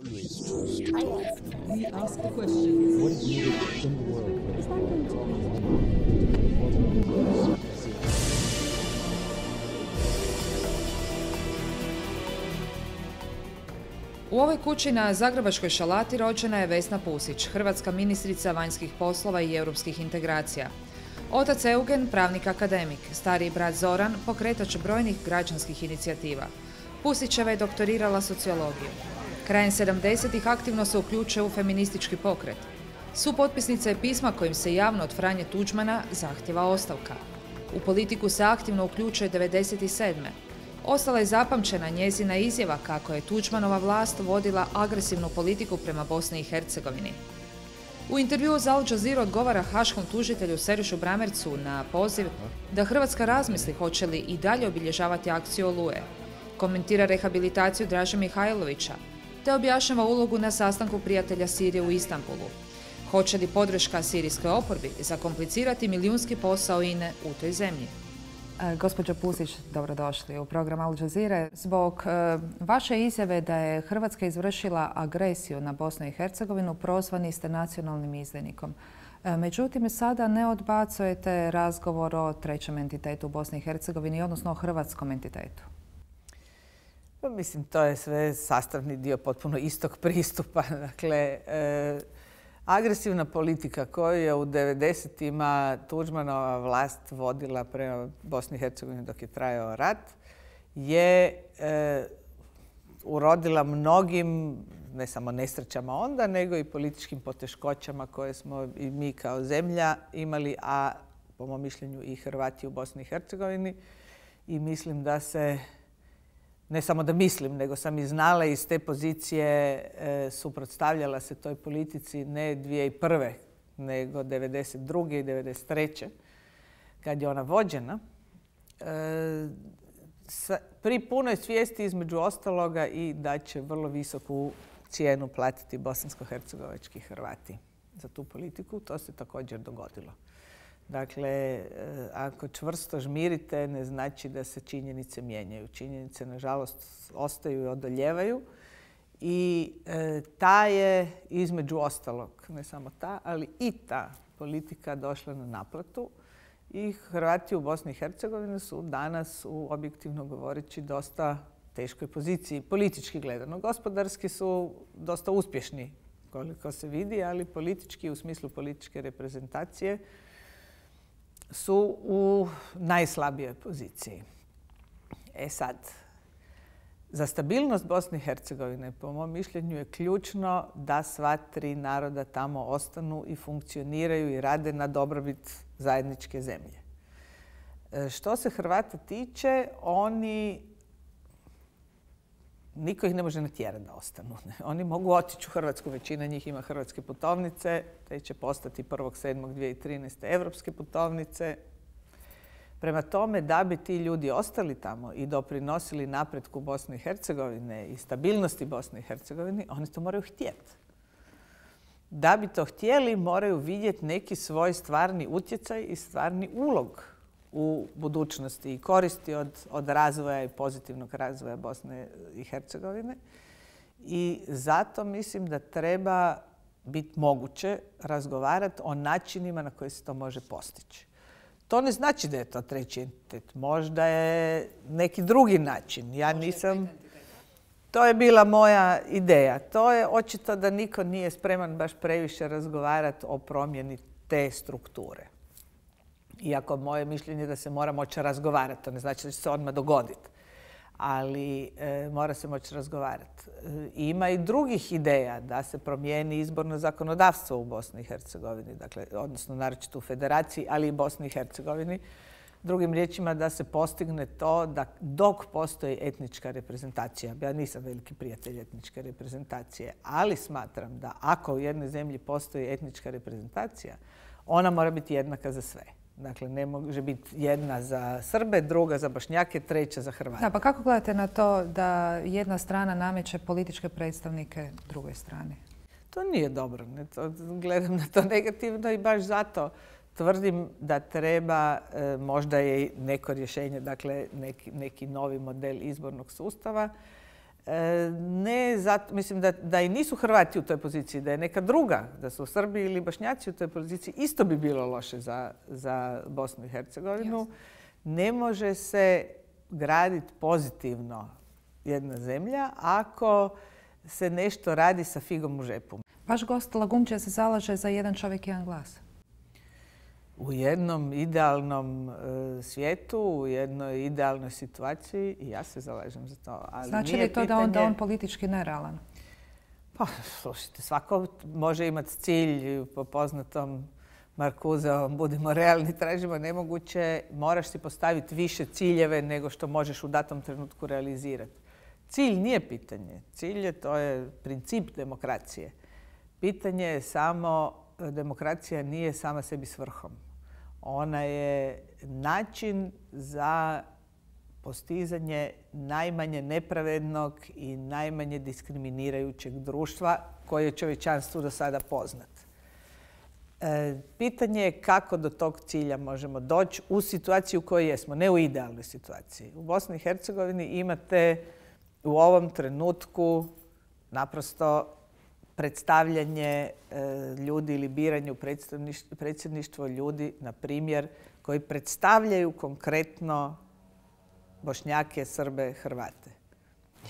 We ask the questions. What is needed in the world? U ovoj kući na zagrebačkoj Šalati rođena je Vesna Pusić, hrvatska ministrica vanjskih poslova i europskih integracija. Otac Eugen, pravnik akademik, stariji brat Zoran, pokretač brojnih građanskih inicijativa. Pusićeva je doktorirala sociologiju. Krajem 70-ih aktivno se uključuje u feministički pokret. Supotpisnica je pisma kojim se javno od Franje Tuđmana zahtjeva ostavka. U politiku se aktivno uključuje 1997. Ostala je zapamćena njezina izjava kako je Tuđmanova vlast vodila agresivnu politiku prema Bosni i Hercegovini. U intervjuu za Al Jazeera odgovara haškom tužitelju Serišu Bramercu na poziv da Hrvatska razmisli hoće li i dalje obilježavati akciju Oluje. Komentira rehabilitaciju Draže Mihajlovića, te objašnjava ulogu na sastanku prijatelja Sirije u Istanbulu. Hoće li podrška sirijskoj oporbi zakomplicirati milijunski posao INA-e u toj zemlji? Gospođo Pusić, dobrodošli u program Al Jazeera. Zbog vaše izjave da je Hrvatska izvršila agresiju na Bosnu i Hercegovinu, prozvani ste nacionalnim izdajnikom. Međutim, sada ne odbacujete razgovor o trećem entitetu u Bosni i Hercegovini, odnosno o hrvatskom entitetu. Mislim, to je sve sastavni dio potpuno istog pristupa. Dakle, agresivna politika koju je u 90-ima Tuđmanova vlast vodila prema Bosni i Hercegovini dok je trajao rat je urodila mnogim, ne samo nesrećama onda, nego i političkim poteškoćama koje smo i mi kao zemlja imali, a po mom mišljenju i Hrvati u Bosni i Hercegovini. I mislim da se, ne samo da mislim, nego sam i znala iz te pozicije suprotstavljala se toj politici ne 2001. nego 1992. i 1993. kad je ona vođena. Pri punoj svijesti između ostaloga i da će vrlo visoku cijenu platiti bosansko-hercegovački Hrvati za tu politiku. To se također dogodilo. Dakle, ako čvrsto žmirite, ne znači da se činjenice mijenjaju. Činjenice, nažalost, ostaju i odoljevaju. I ta je, između ostalog, ne samo ta, ali i ta politika došla na naplatu. I Hrvati u Bosni i Hercegovini su danas, objektivno govoreći, dosta teškoj poziciji. Politički gledano. Gospodarski su dosta uspješni, koliko se vidi, ali politički, u smislu političke reprezentacije, su u najslabijoj poziciji. Sad, za stabilnost Bosne i Hercegovine, po mom mišljenju, je ključno da sva tri naroda tamo ostanu i funkcioniraju i rade na dobrobit zajedničke zemlje. Što se Hrvata tiče, niko ih ne može natjerati da ostanu. Oni mogu otići u Hrvatsku, većina njih ima hrvatske putovnice, te će postati 1.7.2013. evropske putovnice. Prema tome, da bi ti ljudi ostali tamo i doprinosili napretku Bosne i Hercegovine i stabilnosti Bosne i Hercegovine, oni to moraju htjeti. Da bi to htjeli, moraju vidjeti neki svoj stvarni utjecaj i stvarni ulog u budućnosti i koristi od razvoja i pozitivnog razvoja Bosne i Hercegovine. I zato mislim da treba biti moguće razgovarati o načinima na koji se to može postići. To ne znači da je to treći entitet. Možda je neki drugi način. Ja nisam... To je bila moja ideja. To je očito da niko nije spreman baš previše razgovarati o promjeni te strukture. Iako moje mišljenje je da se mora moći razgovarati. To ne znači da će se odmah dogoditi. Ali mora se moći razgovarati. Ima i drugih ideja da se promijeni izborno zakonodavstvo u Bosni i Hercegovini, dakle, odnosno naročito u Federaciji, ali i Bosni i Hercegovini. Drugim riječima, da se postigne to da dok postoji etnička reprezentacija, ja nisam veliki prijatelj etničke reprezentacije, ali smatram da ako u jednoj zemlji postoji etnička reprezentacija, ona mora biti jednaka za sve. Dakle, ne može biti jedna za Srbe, druga za Bošnjake, treća za Hrvate. Da, pa kako gledate na to da jedna strana nameće političke predstavnike drugoj strani? To nije dobro. Gledam na to negativno i baš zato tvrdim da treba, možda je neko rješenje, dakle neki novi model izbornog sustava, Ne zato, mislim da i nisu Hrvati u toj poziciji, da je neka druga, da su Srbi ili Bošnjaci u toj poziciji, isto bi bilo loše za Bosnu i Hercegovinu. Ne može se graditi pozitivno jedna zemlja ako se nešto radi sa figom u žepu. Vaš gost Lagumdžija se zalaže za jedan čovjek, jedan glas. U jednom idealnom svijetu, u jednoj idealnoj situaciji i ja se zalažem za to. Ali znači li to da on politički nerealan? Pa, slušajte, svako može imati cilj po poznatom Markuzevom, budimo realni, tražimo nemoguće, moraš si postaviti više ciljeve nego što možeš u datom trenutku realizirati. Cilj nije pitanje. Cilj to je princip demokracije. Pitanje je samo, demokracija nije sama sebi svrhom. Ona je način za postizanje najmanje nepravednog i najmanje diskriminirajućeg društva koje je čovječanstvu do sada poznat. Pitanje je kako do tog cilja možemo doći u situaciji u kojoj jesmo, ne u idealnoj situaciji. U Bosni i Hercegovini imate u ovom trenutku naprosto predstavljanje ljudi ili biranje u predsjedništvo ljudi, na primjer, koji predstavljaju konkretno Bošnjake, Srbe, Hrvate.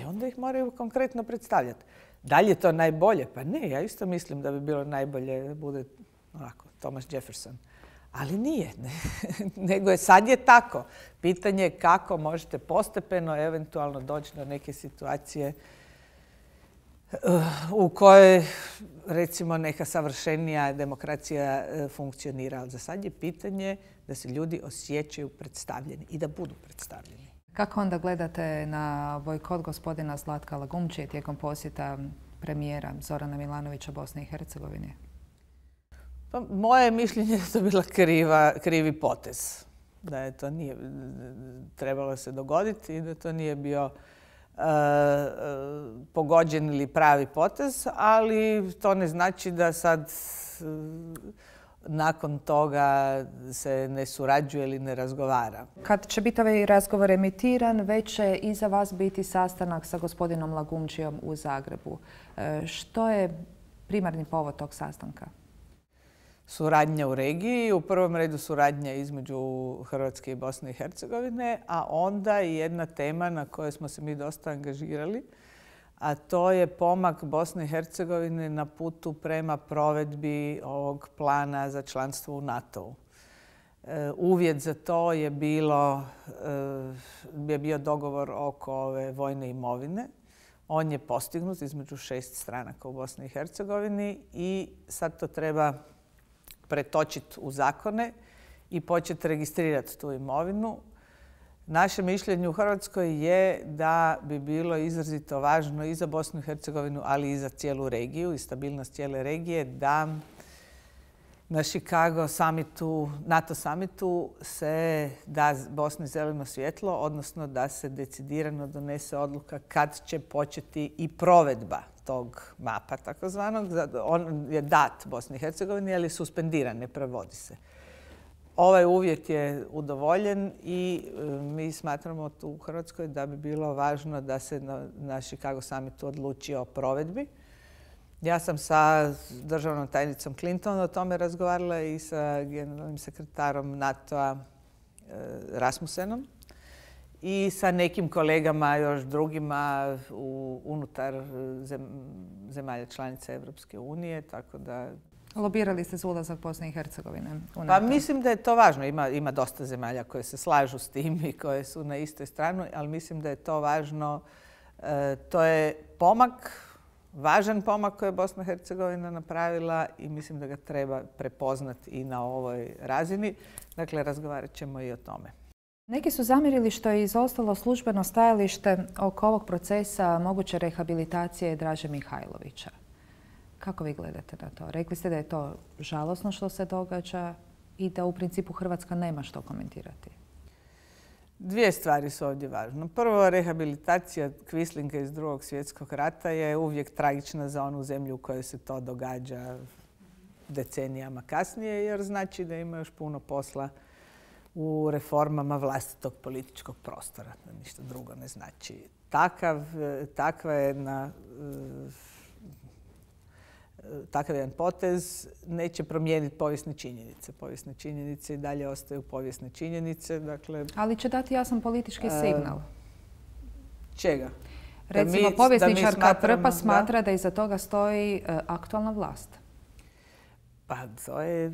I onda ih moraju konkretno predstavljati. Da li je to najbolje? Pa ne, ja isto mislim da bi bilo najbolje da bude onako, Thomas Jefferson. Ali nije. Nego je sad je tako. Pitanje je kako možete postepeno eventualno doći do neke situacije u kojoj, recimo, neka savršenija demokracija funkcionira. Ali za sad je pitanje da se ljudi osjećaju predstavljeni i da budu predstavljeni. Kako onda gledate na bojkot gospodina Zlatka Lagumdžije tijekom posjeta premijera Zorana Milanovića Bosne i Hercegovine? Pa, moje mišljenje je da to bila krivi potez. Da je to nije trebalo se dogoditi i da to nije bio pogođen ili pravi potez, ali to ne znači da sad nakon toga se ne surađuje ili ne razgovara. Kad će biti ovaj razgovor emitiran, već će iza vas biti sastanak sa gospodinom Lagumdžijom u Zagrebu. Što je primarni povod tog sastanka? Suradnja u regiji, u prvom redu suradnja između Hrvatske i Bosne i Hercegovine, a onda i jedna tema na kojoj smo se mi dosta angažirali, a to je pomak Bosne i Hercegovine na putu prema provedbi ovog plana za članstvo u NATO-u. Uvjet za to je bio dogovor oko ove vojne imovine. On je postignut između 6 stranaka u Bosni i Hercegovini i sad to treba pretočiti u zakone i početi registrirati tu imovinu. Naše mišljenje u Hrvatskoj je da bi bilo izrazito važno i za Bosnu i Hercegovinu, ali i za cijelu regiju i stabilnost cijele regije, da na Chicago summitu, NATO summitu se da Bosni zeleno svjetlo, odnosno da se decidirano donese odluka kad će početi i provedba tog mapa takozvanog. On je dat Bosni i Hercegovini, ali je suspendiran, ne provodi se. Ovaj uvjet je udovoljen i mi smatramo tu u Hrvatskoj da bi bilo važno da se na Chicago summitu odluči o provedbi. Ja sam sa državnom tajnicom Clinton o tome razgovarala i sa generalnim sekretarom NATO-a Rasmussenom i sa nekim kolegama još drugima unutar zemalja članica Evropske unije, tako da... Lobirali ste za ulazak Bosne i Hercegovine u NATO? Pa mislim da je to važno. Ima dosta zemalja koje se slažu s tim i koje su na istoj strani, ali mislim da je to važno. To je pomak, važan pomak koji je Bosna i Hercegovina napravila i mislim da ga treba prepoznati i na ovoj razini. Dakle, razgovarat ćemo i o tome. Neki su zamjerili što je izostalo službeno stajalište oko ovog procesa moguće rehabilitacije Draže Mihajlovića. Kako vi gledate na to? Rekli ste da je to žalosno što se događa i da u principu Hrvatska nema što komentirati. Dvije stvari su ovdje važne. Prvo, rehabilitacija Kvislinga iz Drugog svjetskog rata je uvijek tragična za onu zemlju u kojoj se to događa decenijama kasnije, jer znači da ima još puno posla u reformama vlastitog političkog prostora. Ništa drugo ne znači. takav jedan potez neće promijeniti povijesne činjenice. Povijesne činjenice i dalje ostaju povijesne činjenice. Dakle, ali će dati jasan politički signal. Čega? Recimo, povjesničarka Prpa smatra da iza toga stoji aktualna vlast. Pa to je,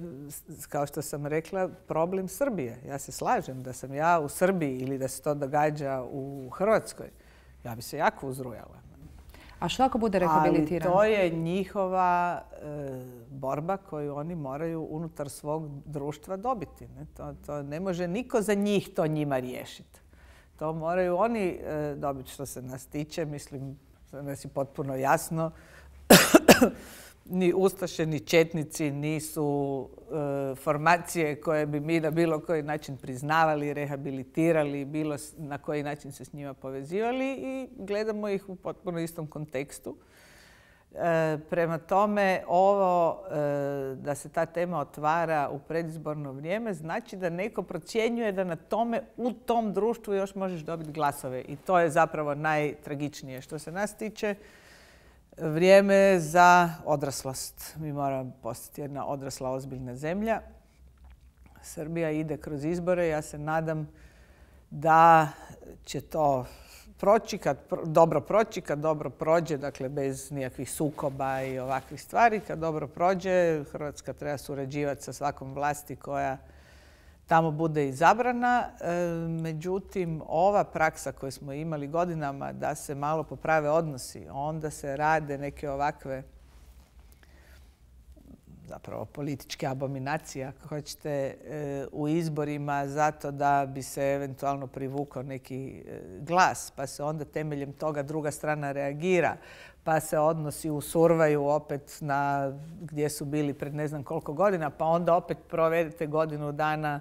kao što sam rekla, problem Srbije. Ja se slažem da sam ja u Srbiji ili da se to događa u Hrvatskoj. Ja bi se jako uzrujala. A što ako bude rehabilitirano? Ali to je njihova borba koju oni moraju unutar svog društva dobiti. To ne može niko za njih to njima riješiti. To moraju oni dobiti. Što se nas tiče, mislim, da nas je potpuno jasno. Ni ustaše, ni četnici nisu formacije koje bi mi na bilo koji način priznavali, rehabilitirali, bilo na koji način se s njima povezivali i gledamo ih u potpuno istom kontekstu. Prema tome, ovo da se ta tema otvara u predizborno vrijeme znači da neko procjenjuje da na tome u tom društvu još možeš dobiti glasove. I to je zapravo najtragičnije. Što se nas tiče, vrijeme za odraslost. Mi moramo postati jedna odrasla, ozbiljna zemlja. Srbija ide kroz izbore. Ja se nadam da će to proći, kad dobro prođe, dakle bez nikakvih sukoba i ovakvih stvari. Kad dobro prođe, Hrvatska treba surađivati sa svakom vlasti koja tamo bude izabrana. Međutim, ova praksa koju smo imali godinama da se malo poprave odnosi, onda se rade neke ovakve zapravo političke abominacije, ako hoćete, u izborima zato da bi se eventualno privukao neki glas, pa se onda temeljem toga druga strana reagira, pa se odnosi usurvaju opet na gdje su bili pred ne znam koliko godina, pa onda opet provedete godinu dana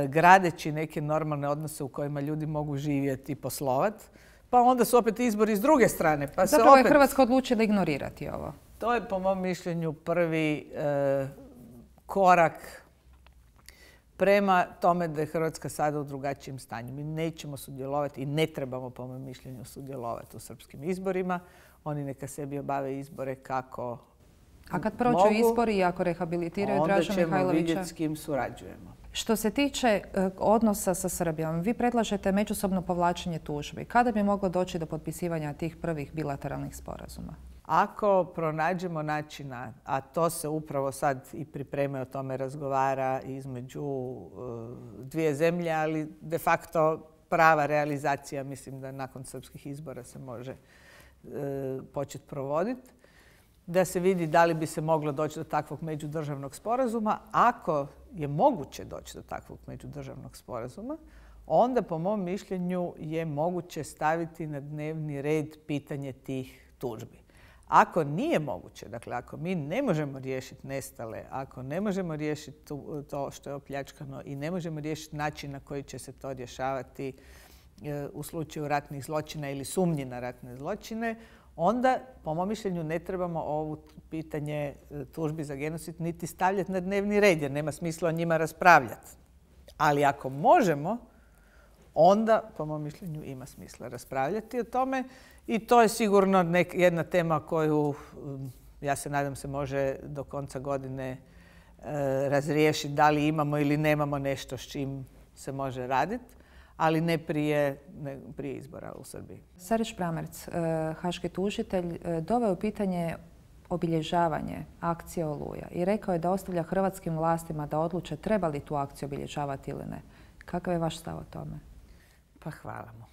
gradeći neke normalne odnose u kojima ljudi mogu živjeti i poslovati, pa onda su opet izbori s druge strane. Pa zapravo je Hrvatska odlučila ignorirati ovo. To je po mom mišljenju prvi korak prema tome da je Hrvatska sada u drugačijem stanju. Mi nećemo sudjelovati i ne trebamo po mom mišljenju sudjelovati u srpskim izborima. Oni neka sebi obave izbore kako a kad prođu izbori i ako rehabilitiraju Draža Mihajlovića? Onda ćemo vidjeti s kim surađujemo. Što se tiče odnosa sa Srbijom, vi predlažete međusobno povlačenje tužbi. Kada bi moglo doći do potpisivanja tih prvih bilateralnih sporazuma? Ako pronađemo načina, a to se upravo sad i priprema, o tome razgovara između dvije zemlje, ali de facto prava realizacija, mislim da nakon srpskih izbora se može početi provoditi, da se vidi da li bi se moglo doći do takvog međudržavnog sporazuma. Ako je moguće doći do takvog međudržavnog sporazuma, onda po mom mišljenju je moguće staviti na dnevni red pitanje tih tužbi. Ako nije moguće, dakle ako mi ne možemo riješiti nestale, ako ne možemo riješiti to što je opljačkano i ne možemo riješiti način na koji će se to rješavati u slučaju ratnih zločina ili sumnji na ratne zločine, onda, po mom mišljenju, ne trebamo ovo pitanje tužbi za genocid niti stavljati na dnevni red, jer nema smisla o njima raspravljati. Ali ako možemo, onda, po mom mišljenju, ima smisla raspravljati o tome. I to je sigurno jedna tema koju, ja se nadam, se može do konca godine razriješiti da li imamo ili nemamo nešto s čim se može raditi, ali ne prije izbora u Srbiji. Sarić Pramerc, haški tužitelj, doveo pitanje obilježavanje akcije Oluja i rekao je da ostavlja hrvatskim vlastima da odluče treba li tu akciju obilježavati ili ne. Kakav je vaš stav o tome? Pa hvala mu.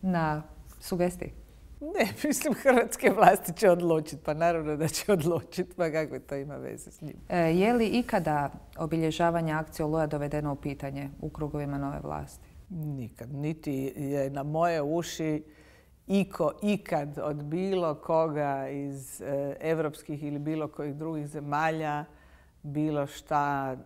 Na sugestiji? Ne, mislim hrvatske vlasti će odlučiti, pa naravno da će odlučiti, pa kakve to ima veze s njim. Je li ikada obilježavanje akcije Oluja dovedeno u pitanje u krugovima nove vlasti? Nikad. Niti je na moje uši ikad od bilo koga iz evropskih ili bilo kojih drugih zemalja bilo šta,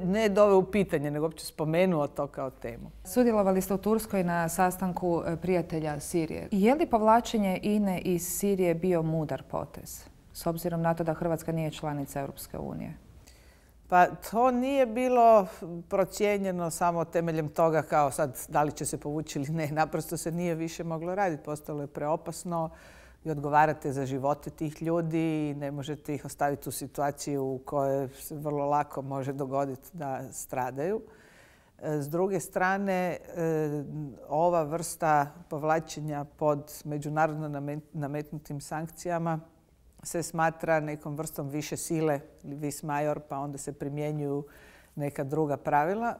ne doveo u pitanje, nego uopće spomenuo to kao temu. Sudjelovali ste u Turskoj na sastanku prijatelja Sirije. Je li povlačenje INA-e iz Sirije bio mudar potez, s obzirom na to da Hrvatska nije članica Europske unije? Pa to nije bilo procijenjeno samo temeljem toga kao sad da li će se povući ili ne. Naprosto se nije više moglo raditi. Postalo je preopasno i odgovarate za živote tih ljudi i ne možete ih ostaviti u situaciju u kojoj se vrlo lako može dogoditi da stradaju. S druge strane, ova vrsta povlačenja pod međunarodno nametnutim sankcijama se smatra nekom vrstom više sile, vis major, pa onda se primjenjuju neka druga pravila.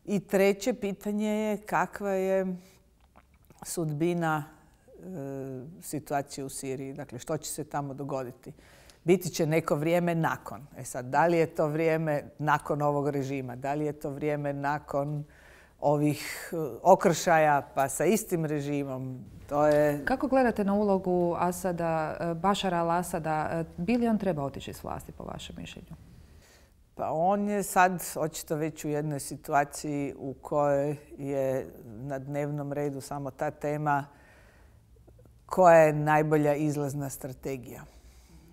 I treće pitanje je kakva je sudbina situacije u Siriji. Dakle, što će se tamo dogoditi? Biti će neko vrijeme nakon. Sad, da li je to vrijeme nakon ovog režima? Da li je to vrijeme nakon ovih okršaja pa sa istim režimom? To je... Kako gledate na ulogu Bašara al-Asada? Bi li on treba otići s vlasti, po vašem mišljenju? Pa on je sad očito već u jednoj situaciji u kojoj je na dnevnom redu samo ta tema koja je najbolja izlazna strategija.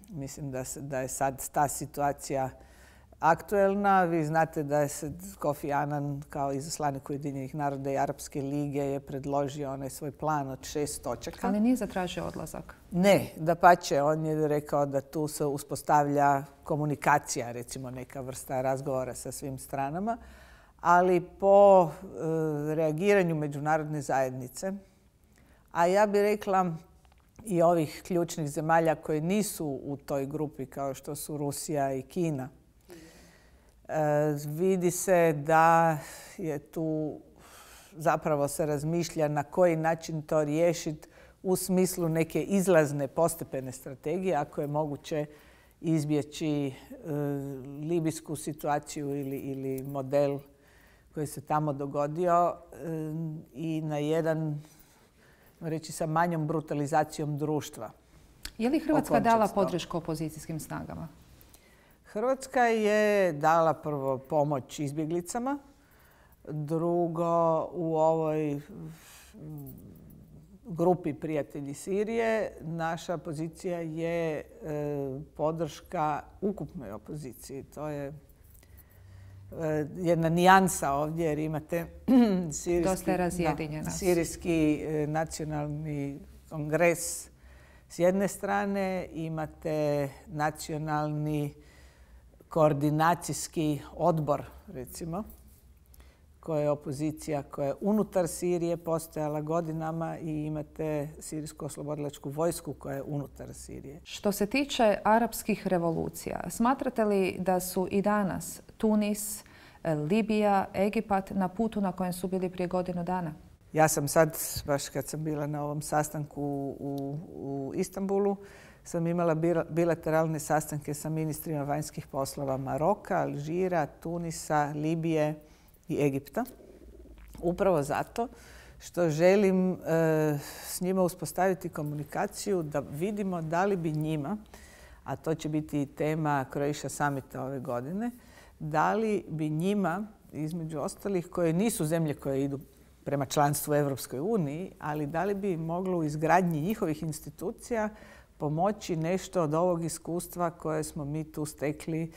Mislim da je sad ta situacija aktuelna. Vi znate da je Kofi Annan kao izaslanik Ujedinjenih naroda i Arapske lige je predložio onaj svoj plan od 6 točaka. Ali nije zatražio odlazak? Ne, dapače, on je rekao da tu se uspostavlja komunikacija, recimo neka vrsta razgovora sa svim stranama, ali po reagiranju međunarodne zajednice, a ja bih rekla i ovih ključnih zemalja koje nisu u toj grupi kao što su Rusija i Kina, vidi se da je tu zapravo se razmišlja na koji način to riješiti u smislu neke izlazne postepene strategije, ako je moguće izbjeći libijsku situaciju ili model koji se tamo dogodio i na jedan, reći sa manjom brutalizacijom društva. Je li Hrvatska dala podršku opozicijskim snagama? Hrvatska je dala prvo pomoć izbjeglicama, drugo u ovoj grupi Prijatelji Sirije naša pozicija je podrška ukupnoj opoziciji. To je jedna nijansa ovdje jer imate Sirijski nacionalni kongres s jedne strane, imate nacionalni koordinacijski odbor, recimo, koja je opozicija koja je unutar Sirije postojala godinama i imate Sirijsku oslobodilačku vojsku koja je unutar Sirije. Što se tiče arapskih revolucija, smatrate li da su i danas Tunis, Libija, Egipat na putu na kojem su bili prije godinu dana? Ja sam sad, baš kad sam bila na ovom sastanku u Istanbulu, sam imala bilateralne sastanke sa ministrima vanjskih poslova Maroka, Alžira, Tunisa, Libije i Egipta. Upravo zato što želim s njima uspostaviti komunikaciju da vidimo da li bi njima, a to će biti tema Croatia Summita ove godine, da li bi njima, između ostalih, koje nisu zemlje koje idu prema članstvu u Europskoj uniji, ali da li bi moglo u izgradnji njihovih institucija pomoći nešto od ovog iskustva koje smo mi tu stekli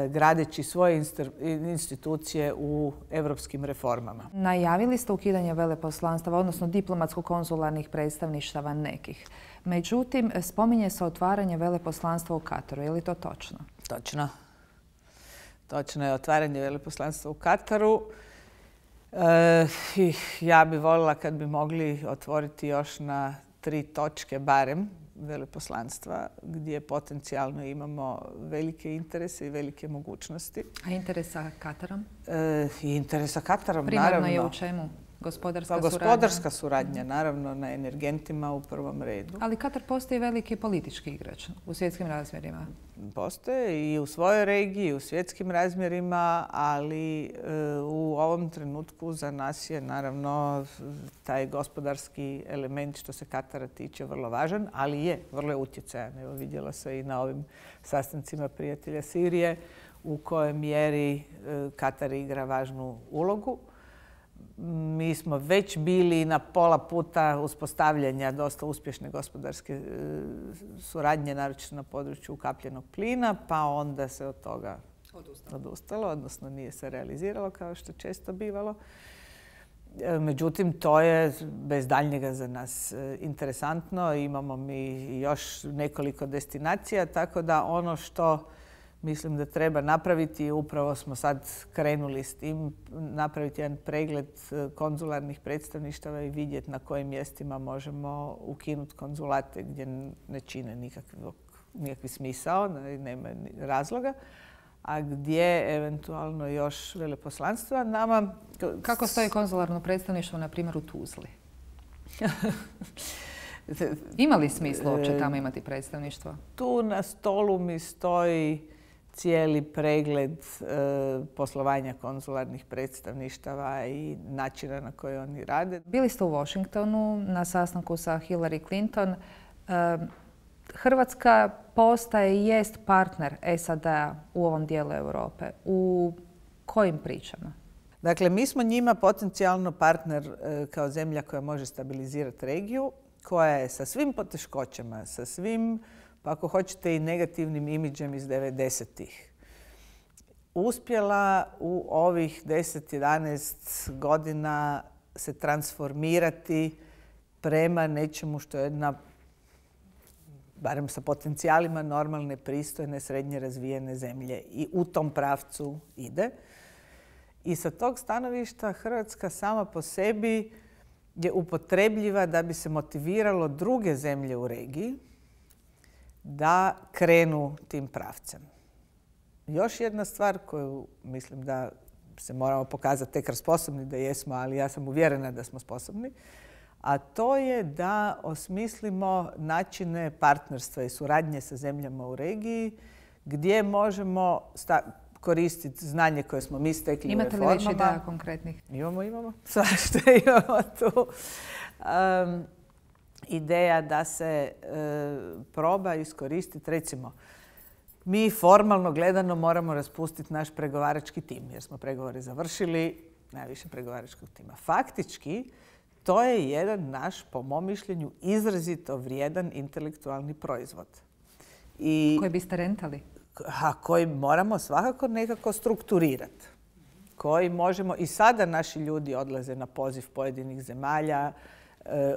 gradeći svoje institucije u europskim reformama. Najavili ste ukidanje veleposlanstava, odnosno diplomatsko-konzularnih predstavništava nekih. Međutim, spominje se otvaranje veleposlanstva u Kataru. Je li to točno? Točno. Točno je otvaranje veleposlanstva u Kataru. Ja bih voljela kad bi mogli otvoriti još na 3 točke barem veleposlanstva gdje potencijalno imamo velike interese i velike mogućnosti. A interes sa Katarom? Interes sa Katarom, primarno naravno. Je u čemu? Gospodarska suradnja, naravno, na energentima u prvom redu. Ali Katar postoji veliki politički igrač u svjetskim razmjerima. Postoje i u svojoj regiji, u svjetskim razmjerima, ali u ovom trenutku za nas je naravno taj gospodarski element što se Katara tiče vrlo važan, ali je vrlo utjecajan. Evo, vidjela se i na ovim sastancima Prijatelja Sirije u kojoj mjeri Katar igra važnu ulogu. Mi smo već bili na pola puta uspostavljanja dosta uspješne gospodarske suradnje, naročito na području ukapljenog plina, pa onda se od toga odustalo, odnosno nije se realiziralo kao što često bivalo. Međutim, to je bez daljnjega za nas interesantno. Imamo mi još nekoliko destinacija, tako da ono što mislim da treba napraviti, upravo smo sad krenuli s tim, napraviti jedan pregled konzularnih predstavništava i vidjeti na kojim mjestima možemo ukinuti konzulate gdje ne čine nikakvi smisao, nema razloga, a gdje eventualno još veleposlanstva nama... Kako stoji konzularno predstavništvo, na primjer, u Tuzli? Ima li smisla uopće tamo imati predstavništvo? Tu na stolu mi stoji cijeli pregled poslovanja konzularnih predstavništava i načina na koji oni rade. Bili ste u Washingtonu na sastanku sa Hillary Clinton. Hrvatska postaje i jest partner SAD-a u ovom dijelu Europe. U kojim pričama? Dakle, mi smo njima potencijalno partner kao zemlja koja može stabilizirati regiju, koja je sa svim poteškoćama, sa svim, pa ako hoćete i negativnim imidžem iz 90-ih, uspjela u ovih 10-11 godina se transformirati prema nečemu što je jedna, barem sa potencijalima, normalne, pristojne, srednje razvijene zemlje. I u tom pravcu ide. I sa tog stanovišta Hrvatska sama po sebi je upotrebljiva da bi se motiviralo druge zemlje u regiji da krenu tim pravcem. Još jedna stvar koju mislim da se moramo pokazati tek sposobni da jesmo, ali ja sam uvjerena da smo sposobni, a to je da osmislimo načine partnerstva i suradnje sa zemljama u regiji gdje možemo koristiti znanje koje smo mi stekli u reformama. Imate li već ideja konkretnih? Imamo. Svašta imamo tu. Ideja da se proba iskoristiti, recimo, mi formalno gledano moramo raspustiti naš pregovarački tim, jer smo pregovore završili, najviše pregovaračkog tima. Faktički, to je jedan naš, po mom mišljenju, izrazito vrijedan intelektualni proizvod. Koji biste rentali? Koji moramo svakako nekako strukturirati. Koji možemo, i sada naši ljudi odlaze na poziv pojedinih zemalja,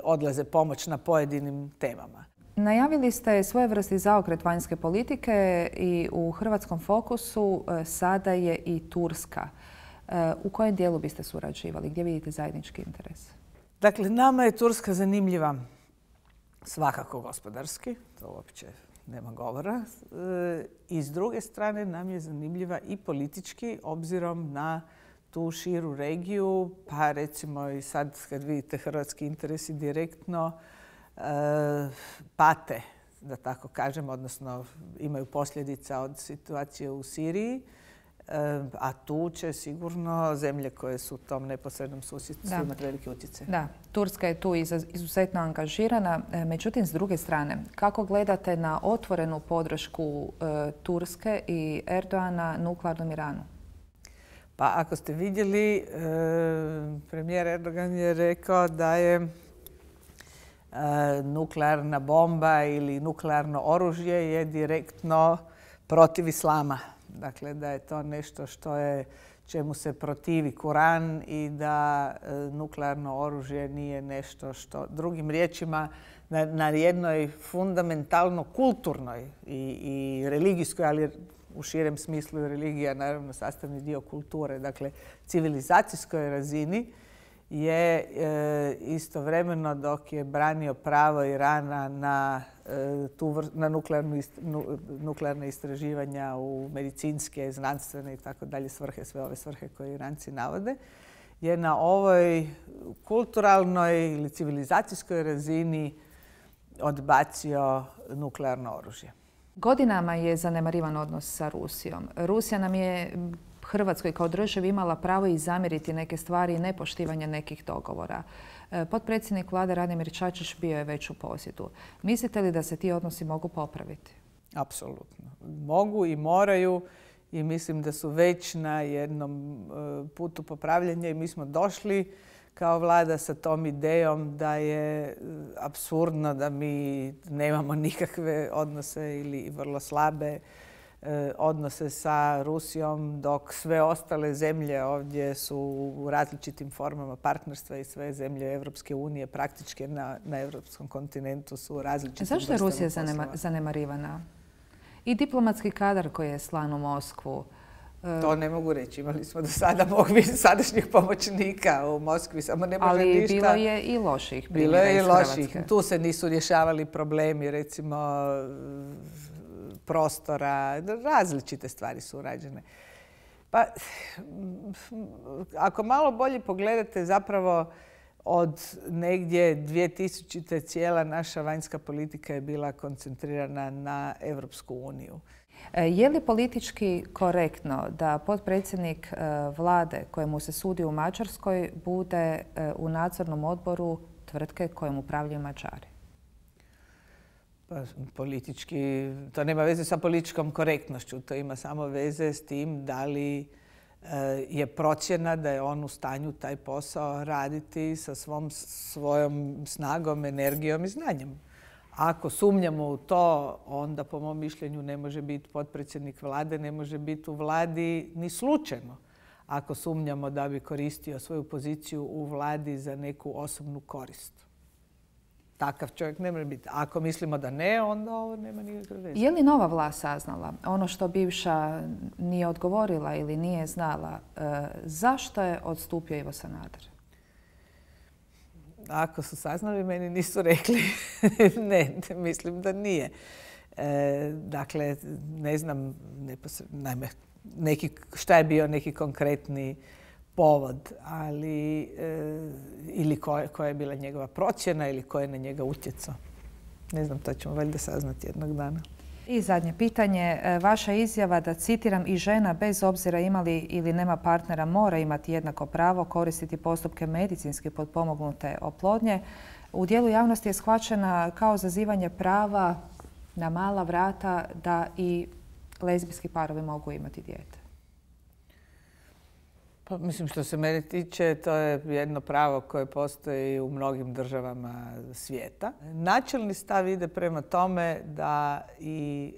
odlaze pomoć na pojedinim temama. Najavili ste svojevrsni zaokret vanjske politike i u hrvatskom fokusu sada je i Turska. U kojem dijelu biste surađivali? Gdje vidite zajednički interes? Dakle, nama je Turska zanimljiva svakako gospodarski, to uopće nema govora. I s druge strane nam je zanimljiva i politički, obzirom na tu širu regiju, pa recimo i sad kad vidite hrvatski interesi direktno pate, da tako kažem, odnosno imaju posljedica od situacije u Siriji, a tu će sigurno zemlje koje su u tom neposrednom susjedstvu imati veliki utjecaj. Da, Turska je tu izuzetno angažirana. Međutim, s druge strane, kako gledate na otvorenu podršku Turske i Erdoana nuklearnom Iranu? Pa ako ste vidjeli, premijer Erdogan je rekao da je nuklearna bomba ili nuklearno oružje je direktno protiv islama. Dakle, da je to nešto čemu se protivi Kuran i da nuklearno oružje nije nešto što, drugim riječima, na jednoj fundamentalno kulturnoj i religijskoj, ali u širem smislu religija naravno sastavni dio kulture, dakle civilizacijskoj razini, je istovremeno dok je branio pravo Irana na nuklearne istraživanja u medicinske, znanstvene i tako dalje svrhe, sve ove svrhe koje Iranci navode, je na ovoj kulturalnoj ili civilizacijskoj razini odbacio nuklearno oružje. Godinama je zanemarivan odnos sa Rusijom. Rusija nam je Hrvatskoj kao državi imala pravo i zamjeriti neke stvari i nepoštivanje nekih dogovora. Potpredsjednik vlade Radimir Čačić bio je već u posjetu. Mislite li da se ti odnosi mogu popraviti? Apsolutno. Mogu i moraju i mislim da su već na jednom putu popravljanja i mi smo došli kao vlada sa tom idejom da je apsurdno da mi nemamo nikakve odnose ili vrlo slabe odnose sa Rusijom, dok sve ostale zemlje ovdje su u različitim formama partnerstva i sve zemlje Evropske unije praktički na evropskom kontinentu su u različitim vrstama poslova. Zašto je Rusija zanemarivana? I diplomatski kadar koji je slan u Moskvu. To ne mogu reći. Imali smo do sada sadašnjih pomoćnika u Moskvi, samo ne može ali ništa. Bilo je i loših primjera iz Hrvatske. Bilo je i loših. Tu se nisu rješavali problemi, recimo prostora, različite stvari su urađene. Pa, ako malo bolje pogledate, zapravo od negdje 2000. cijela naša vanjska politika je bila koncentrirana na Evropsku uniju. Je li politički korektno da potpredsjednik vlade kojemu se sudi u Mađarskoj bude u nadzornom odboru tvrtke kojom upravljaju Mađari? Pa, politički, to nema veze sa političkom korektnošću, to ima samo veze s tim da li je procjena da je on u stanju taj posao raditi sa svojom snagom, energijom i znanjem. Ako sumnjamo u to, onda po mom mišljenju ne može biti potpredsjednik vlade, ne može biti u vladi ni slučajno. Ako sumnjamo da bi koristio svoju poziciju u vladi za neku osobnu korist. Takav čovjek ne može biti. Ako mislimo da ne, onda ovo nema nikakve veze. Je li nova vlast saznala ono što bivša nije odgovorila ili nije znala? Zašto je odstupio Ivo Sanader? Ako su saznali, meni nisu rekli. Ne, mislim da nije. Dakle, ne znam šta je bio neki konkretni povod, ali ili koja je bila njegova procjena ili ko je na njega utjecao. Ne znam, to ćemo valjda saznati jednog dana. I zadnje pitanje. Vaša izjava da, citiram, i žena bez obzira ima li ili nema partnera mora imati jednako pravo koristiti postupke medicinski potpomognute oplodnje, u dijelu javnosti je shvaćena kao zazivanje prava na mala vrata da i lezbijski parovi mogu imati dijete. Pa, mislim, što se mene tiče, to je jedno pravo koje postoji u mnogim državama svijeta. Načelni stav ide prema tome da i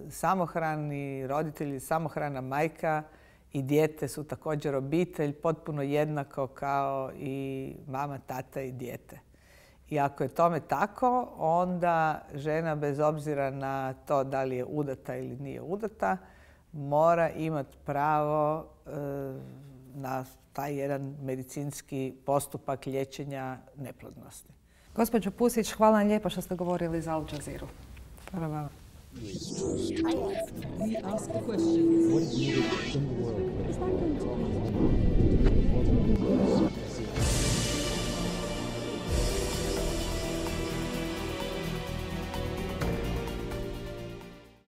samohrani roditelji, samohrana majka i dijete su također obitelj, potpuno jednako kao i mama, tata i dijete. I ako je tome tako, onda žena, bez obzira na to da li je udata ili nije udata, mora imati pravo na taj jedan medicinski postupak liječenja neplodnosti. Gospođo Pusić, hvala vam lijepo što ste govorili za Al Jazeeru. Hvala vam. We ask the question, what is needed in the world?